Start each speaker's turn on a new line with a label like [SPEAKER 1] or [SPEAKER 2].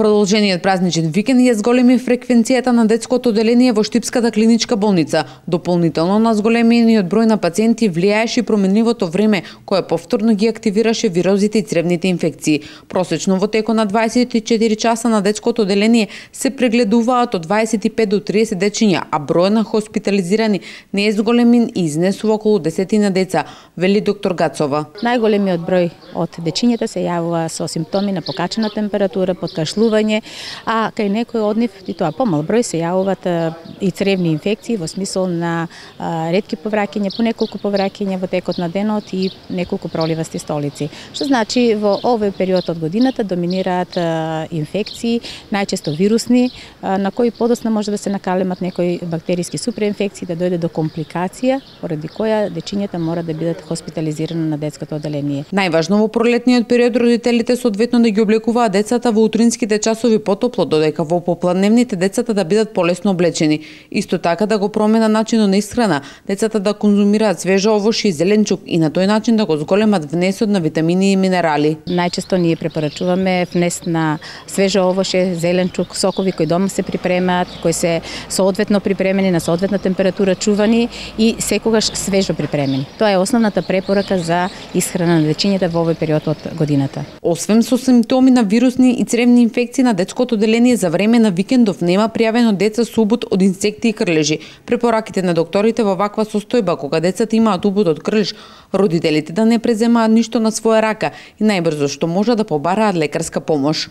[SPEAKER 1] Продолжениот празничен викенд ја зголеми фреквенцијата на детското оделение во Штипската клиничка болница. Дополнително на зголемениот број на пациенти влијаеше и променливото време, кое повторно ги активираше вирозите и цревните инфекции. Просечно во текот на 24 часа на детското оделение се прегледуваат од 25 до 30 дечиња, а бројот на хоспитализирани не е зголемен и изнесува околу 10 деца, вели доктор Гацова.
[SPEAKER 2] Најголемиот број од дечињата се јавува со симптоми на покачена температура, подкашлување, а кај некои од нив, и тоа помал број, се јавуваат и цревни инфекции во смисол на ретки повраќања, по неколку повраќања во текот на денот и неколку проливасти столици. Што значи во овој период од годината доминираат инфекции, најчесто вирусни, на кои подоцна може да се накалемат некои бактериски суперинфекции, да дојде до компликација, поради која дечињата мора да бидат хоспитализирани на детското оделение.
[SPEAKER 1] Најважно во пролетниот период родителите соодветно да ги облекуваат децата во утринските часови потопло, додека во попладневните децата да бидат полесно облечени. Исто така да го промена начинот на исхрана, децата да конзумираат свежо овошје и зеленчук и на тој начин да го зголемат внесот на витамини и минерали.
[SPEAKER 2] Најчесто ние препорачуваме внес на свежо овошје, зеленчук, сокови кои дома се припремаат, кои се соодветно припремени на соодветна температура, чувани и секогаш свежо припремени. Тоа е основната препорака за исхрана на дечињата во овој период од годината.
[SPEAKER 1] Освен со симптоми на вирусни и цревни инфекции на детското оделение за време на викендов нема пријавено деца со убод од инсекти и крлежи. Препораките на докторите во ваква состојба, кога децата имаат убод од крлеж, родителите да не преземаат ништо на своја рака и најбрзо што може да побараат лекарска помош.